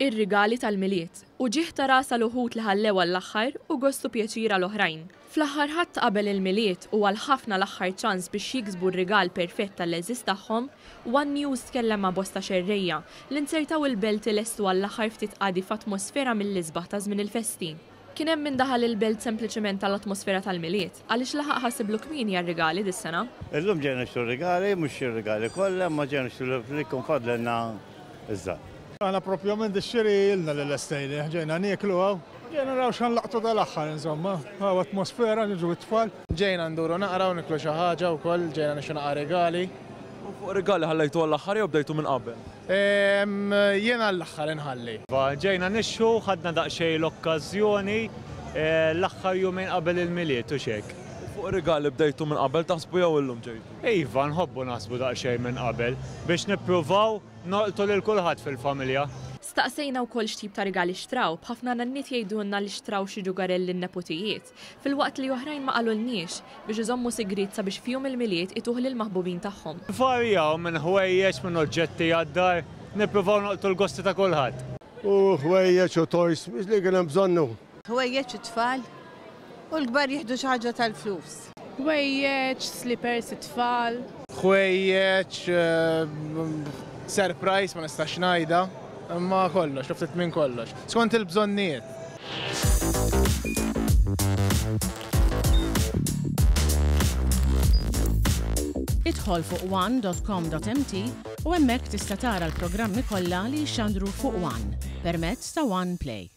Ir-rigali tal-Milied, uġigħ ta' ras għal uħud li ħallew għall-aħħar u gost u pjaċir għal oħrajn. Fl-aħħar Ħadd ta' qabel il-Milied u għal ħafna l-aħħar ċans biex jiksbu r-rigal perfett għall-għeżież tagħhom, One News tkellem ma' bosta xerrejja li nzertaw il-Belt ilestu għall-aħħar ftit qadi f'atmosfera mill-isbaħ ta' żmien il-festi. Kien hemm min daħal il-Belt sempliċement għall-atmosfera tal-Milied, għaliex laħaq ħasiblu kmieni għar-rigali dis-sena. Illum ġejna nixtru r-rigali, mhux ir-rigali kollha, imma ġejna nixtru li jkun fadlilna iż-żgħar. Aħna propjament ix-xiri ilna li lestejnih, ġejna nieklu hawn. Ġejna naraw x'ħa nlaqtu dal-aħħar insomma, hawn atmosfera, niġu it-tfal. Ġejna nduru naqra u nieklu xi ħaġa wkoll, ġejna nixtru naqra rigali. U fuq rigali ħallejtu għall-aħħar jew bdejtu minn qabel? Jien għall-aħħar inħalli. Iva, ġejna nixtru, ħadna daqsxejn l-okkażjoni l-aħħar jumejn qabel il-Milied hux hekk. U fuq rigali bdejtu minn qabel taħsbu jew illum ġejtu? Iva, nħobbu naħsbu daqsxejn minn qabel biex nippruvaw nolqtu lil kulħadd fil-familja. Staqsejna wkoll x'tip ta' rigali xtraw, b'ħafna nanniet jgħidulna li xtraw xi ġugarell lin-neputijiet, filwaqt li oħrajn ma qalulniex, biex iżommu sigriet sabiex f'jum il-Milied ituh lill-maħbubin tagħhom. Varjaw minn ħwejjeġ, minn oġġetti għad-dar, nippruvaw nolqtu l-gosti ta' kulħadd. U ħwejjeġ u toys li kien hemm bżonnu. Ħwejjeġ it-tfal u l-kbar jieħdu xi ħaġa tal-flus. Ħwejjeġ, slippers it-tfal. Ħwejjeġ, surprise ma nistax ngħidha, imma kollox, ftit minn kollox. Skont il-bżonnijiet. Idħol fuq one.com.mt u hemmhekk tista' tara l-programmi kollha li jixxandru fuq One permezz ta' One Play.